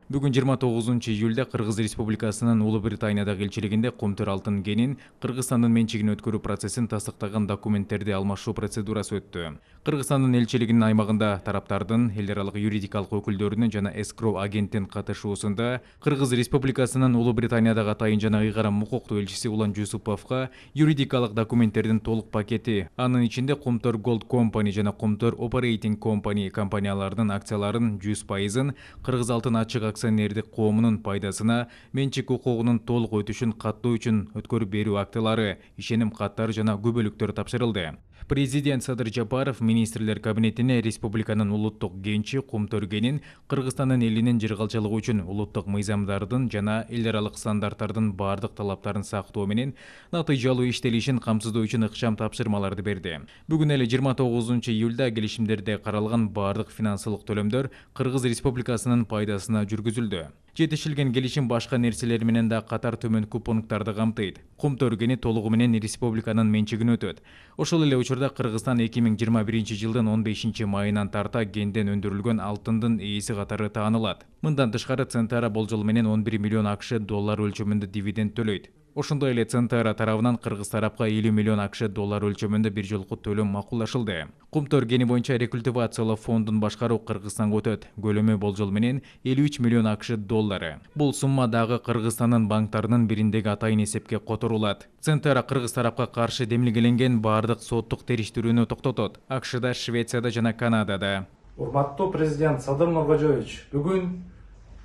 Бүгүн 29-июлда Кыргыз Республикасынын Улуу Британиядагы элчилигинде Кумтөр алтын кенин Кыргызстандын менчигине өткөрүү процессин тастыктаган документтерди алмашуу процедурасы өттү. Кыргызстандын элчилигинин аймагында тараптардын, эл аралык юридикалык өкүлдөрүнүн жана эскроу агенттин катышуусунда Кыргыз Республикасынын Улуу Британиядагы атайын жана ыйгарым укуктуу элчиси Улан Жусуповго юридикалык документтердин толук пакети, анын ичинде Кумтөр Gold Company жана Кумтөр Operating Company компанияларынын акцияларын 100%-ын Кыргыз алтын ачык акционердик коомунун пайдасына менчик укугунун толук өтүшүн каттоо үчүн өткөрүп берүү актылары, ишеним каттары жана күбөлүктөр тапшырылды. Президент Садыр Жапаров министрлер кабинетине республиканын улуттук кенчи Кумтөр кенин Кыргызстандын элинин жыргалчылыгы үчүн улуттук мыйзамдардын жана эл аралык стандарттардын бардык талаптарын сактоо менен натыйжалуу иштелишин камсыздоо үчүн ыкчам тапшырмаларды берди. Бүгүн эле 29-июлда келишимдерде каралган бардык финансылык төлөмдөр Кыргыз Республикасынын пайдасына жүргүзүлдү. Жетишилген келишим башка нерселер менен да катар төмөнкү пункттарды камтыйт. Кумтөр кени толугу менен республиканын менчигине өтөт. Ошол эле учурда Кыргызстан 2021-жылдын 15-майынан тарта кенден өндүрүлгөн алтындын ээси катары таанылат. Мындан тышкары Центара болжол менен 11 миллион АКШ доллар өлчөмүндө дивиденд төлөйт. Ошондой эле Центара тарабынан Кыргыз тарапка 50 миллион АКШ доллар өлчөмүндө бир жолку төлөм макулдашылды. Кумтөр кени боюнча рекультивациялоо фондун башкаруу Кыргызстанга өтөт. Көлөмү болжол менен 53 миллион АКШ доллары. Бул сумма дагы Кыргызстандын банктарынын бириндеги атайын эсепке которулат. Центара Кыргыз тарапка каршы демилгеленген бардык соттук териштирүүнү токтотот. АКШда, Швецияда жана Канадада. Урматтуу президент Садыр Нуркожоевич, бүгүн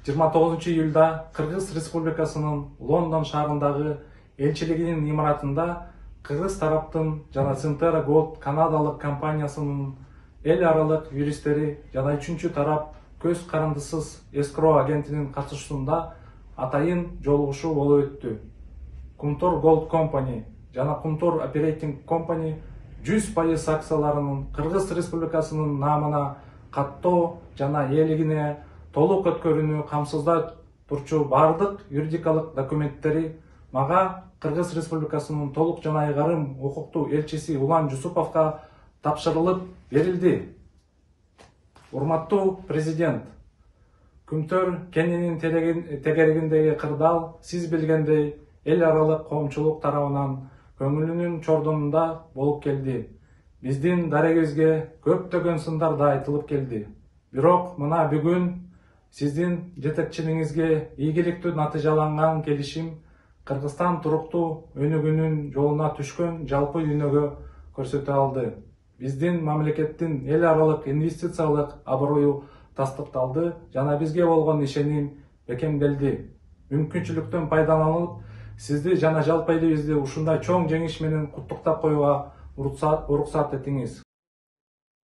29-июлда Кыргыз Республикасынын Лондон шаарындагы элчилигинин имаратында Кыргыз тараптын жана Центара Gold канадалык компаниясынын эл аралык юристтери жана үчүнчү тарап көз карандысыз эскроу агентинин катышуусунда атайын жолугушуу болуп өттү. Кумтөр Gold Company жана Кумтөр Operating Company 100% акцияларынын Кыргыз Республикасынын наамына каттоо жана ээлигине толук өткөрүүнү камсыздап турчу бардык юридикалык документтери мага Кыргыз Республикасынын толук жана ыйгарым укуктуу элчиси Улан Жусуповго тапшырылып берилди. Урматтуу президент, Кумтөр кенинин тегерегиндеги кырдаал сиз билгендей эл аралык коомчулук тарабынан көңүлүнүн чордонунда болуп келди. Биздин дарегибизге көптөгөн сындар да айтылып келди. Бирок мына бүгүн сиздин жетекчилигиңизге ийгиликтүү натыйжаланган келишим Кыргызстан туруктуу өнүгүүнүн жолуна түшкөн жалпы дүйнөгө көрсөтө алды. Биздин мамлекеттин эл аралык инвестициялык аброю тастыкталды жана бизге болгон ишеним бекемделди. Мүмкүнчүлүктөн пайдаланып, сизди жана жалпы элибизди ушундай чоң жеңиш менен куттуктап коюуга уруксат этиңиз.